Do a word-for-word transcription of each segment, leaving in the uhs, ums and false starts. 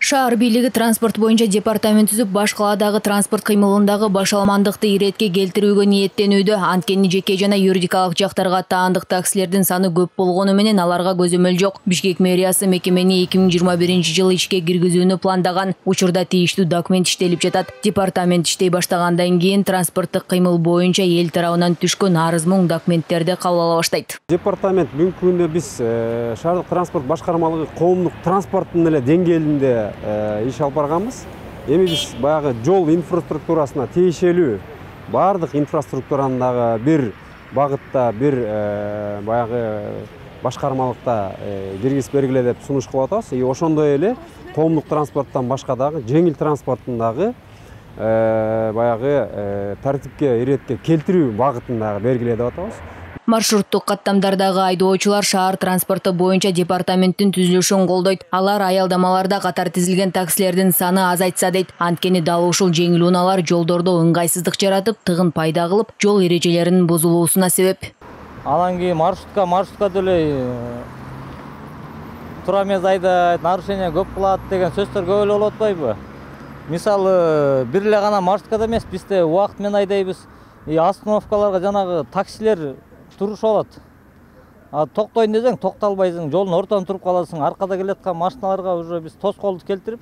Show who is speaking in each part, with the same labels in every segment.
Speaker 1: Шаар бийлиги транспорт боюнча департамент түзүп, баш калаадагы транспорт кыймылындагы башаламандыкты иретке келтирүүгө ниеттенүүдө. Анткени жеке жана юридикалык жактарга таандык таксилердин саны көп болгону менен аларга көзөмөл жок. Бишкек мэриясы мекемени эки миң жыйырма биринчи жылы ишке киргизүүнү пландаган. Учурда тийиштүү документ иштелип жатат. Департамент иштей баштагандан кийин транспорттук кыймыл боюнча эл тарабынан түшкөн арыз-муң документтерди кабыл ала баштайт.
Speaker 2: Департамент бүгүнкү күндө биз шаардык транспорт башкармалыгы коомдук транспорттун эле деңгээлинде иш алып барганбыз. Эми биз баягы жол инфраструктурасына тиешелүү бардык инфраструктураны дагы бир багытта, бир баягы башкармалыкта киргизип бергиле деп сунуш кылып атабыз. И ошондой эле коомдук транспорттон башка дагы жеңил транспорттун дагы баягы тартипке, иретке келтирүү багытын дагы бергиле деп атабыз.
Speaker 1: Маршруттук каттамдардагы айдоочулар шаар транспорту боюнча департаменттин түзүлүшүн колдойт. Алар аялдамаларда катар тизилген таксилердин саны азайтса дейт. Анткени дал ушул жеңил унаалар жолдордо ыңгайсыздык жаратып, тыгын пайда кылып, жол эрежелеринин бузулуусуна себеп.
Speaker 3: Анан кийин маршрутка маршрутка деле тура эмес айдайт, нарушение көп кылат деген сөздөр көп эле болуп атпайбы? Мисалы, бир эле гана маршруткада эмес, бизде убакыт менен айдайбыз. И остановкаларга жанагы таксилер турушуп алат. А токтойн десең токтолбайсың, жолдун ортосунда туруп каласың. Аркада келаткан машиналарга уже биз тоскоолдук келтирип,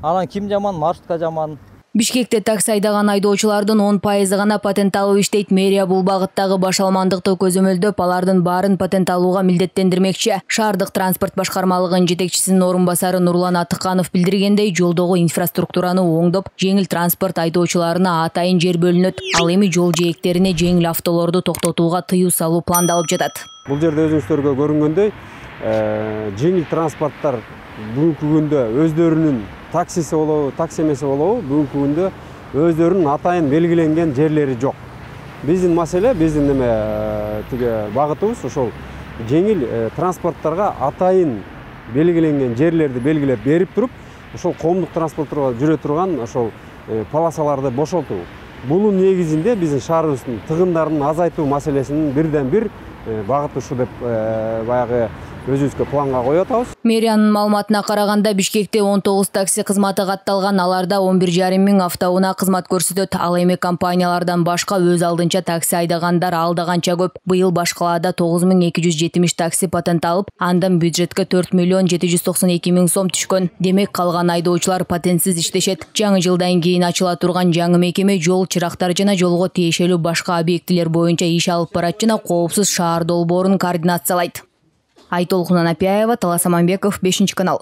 Speaker 3: анан ким жаман, маршрутка жаман.
Speaker 1: Бишкекте такси айдаган айдоочулардын он пайызы гана патент алып иштейт. Мэрия бул багыттагы башаламандыкты көзөмөлдөп, алардын баарын патент алууга милдеттендирмекчи. Шаардык транспорт башкармалыгынын жетекчисинин орун басары Нурлан Атыканов билдиргендей, жолдогу инфраструктураны оңдоп, жеңил транспорт айдоочуларына атайын жер бөлүнөт. Ал эми жол жээктерине жеңил автолорду токтотууга тыюу салуу пландалып жатат.
Speaker 2: Бул жерде өзүңүздөргө көрүнгөндөй, жеңил транспорттор бүгүнкү күндө өздөрүнүн таксиси болобу, такси эмеси болобу, бүгүнкү күндө өздөрүнүн атайын белгиленген жерлери жок. Биздин маселе, биздин эме тиги багытыбыз ошол жеңил транспортторго атайын белгиленген жерлерди белгилеп берип туруп, ошол коомдук транспортторго жүрө турган ошол полосаларды бошолтуу. Бунун негизинде биздин шаарыбыздын тыгындарын азайтуу маселесинин бирден бир багыты ушу деп баягы өзүбүзгө планга коюп атабыз.
Speaker 1: Мэриянын маалыматына караганда, Бишкекте он тогуз такси кызматы катталган, аларда он бир жарым миң автоунаа кызмат көрсөтөт. Ал эми компаниялардан башка өз алдынча такси айдагандар алда канча көп. Быйыл баш калаада тогуз миң эки жүз жетимиш такси патент алып, андан бюджетке төрт миллион жети жүз токсон эки миң сом түшкөн. Демек, калган айдоочулар патентсиз иштешет. Жаңы жылдан кийин ачыла турган жаңы мекеме жол чырактар жана жолго тиешелүү башка объектилер боюнча иш алып барат жана коопсуз шаар долбоорун координациялайт. Айтолкун Анапияева, Талас Аманбеков, бешинчи канал.